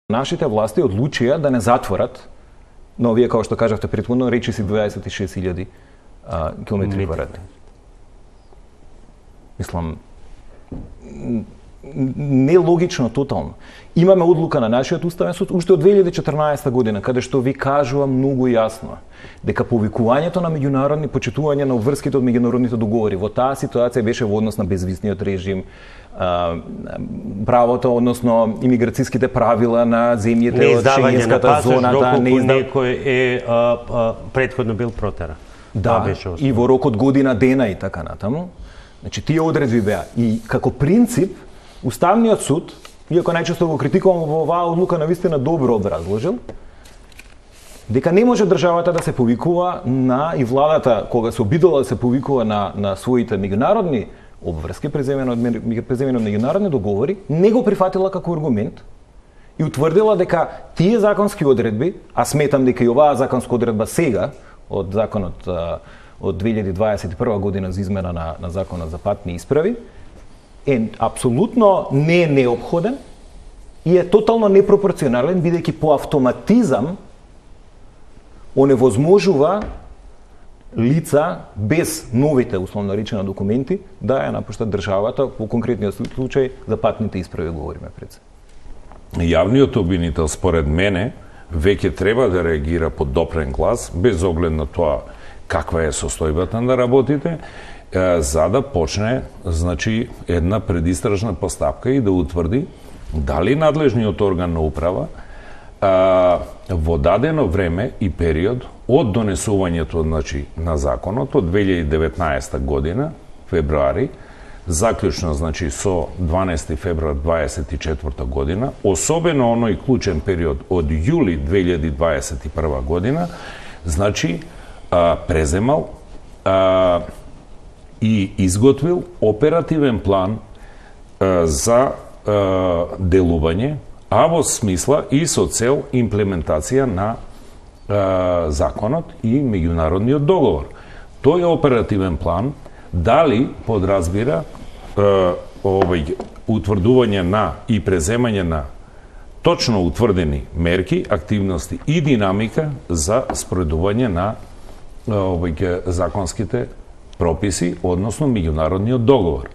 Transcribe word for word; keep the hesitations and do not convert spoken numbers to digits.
Нашите власти одлучија да не затворат, но вие како што кажавте претходно, речи си дваесет и шест илјади километри квадратни. Мислам, нелогично тотално. Имаме одлука на нашиот уставен суд уште од две илјади и четрнаесета година, каде што ви кажува многу јасно дека повикувањето на меѓународни почитување на обврските од меѓународните договори во таа ситуација беше во однос на безвизниот режим, правото, односно имиграцијските правила на земјите од Шенгенската зона, да не издава некој е а, а, претходно бил протера. Да, и во рок од година дена и така натаму. Значи тие одредби беа и како принцип Уставниот суд, иако најчесто го критикувам во оваа одлука, навистина добро образложил дека не може државата да се повикува на и владата кога се обидела да се повикува на на своите меѓународни обврски, преземено од преземено меѓународни договори, не го прифатила како аргумент и утврдила дека тие законски одредби, а сметам дека и оваа законска одредба сега од законот од две илјади дваесет и прва година за измена на на законот за патни исправи, е апсолутно не е неопходен и е тотално непропорционален, бидејќи по автоматизам оневозможува лица без новите, условно речено, документи да ја напуштат државата, по конкретниот случај за патните исправи говориме пред се. Јавниот обвинител, според мене, веќе треба да реагира под допрен глас, без оглед на тоа каква е состојбата на работите, за да почне, значи, една предистражна постапка и да утврди дали надлежниот орган на управа а, во дадено време и период од донесувањето, значи, на законот од две илјади и деветнаесета година, февруари, заклучно, значи, со дванаесети февруар дваесет и четврта година, особено оној клучен период од јули две илјади дваесет и прва година, значи, а, преземал а, и изготвил оперативен план а, за а, делување, а во смисла и со цел имплементација на а, законот и меѓународниот договор. Тој оперативен план дали подразбира а, овој утврдување на и преземање на точно утврдени мерки, активности и динамика за спроведување на овој законските прописи, односно меѓународниот договор.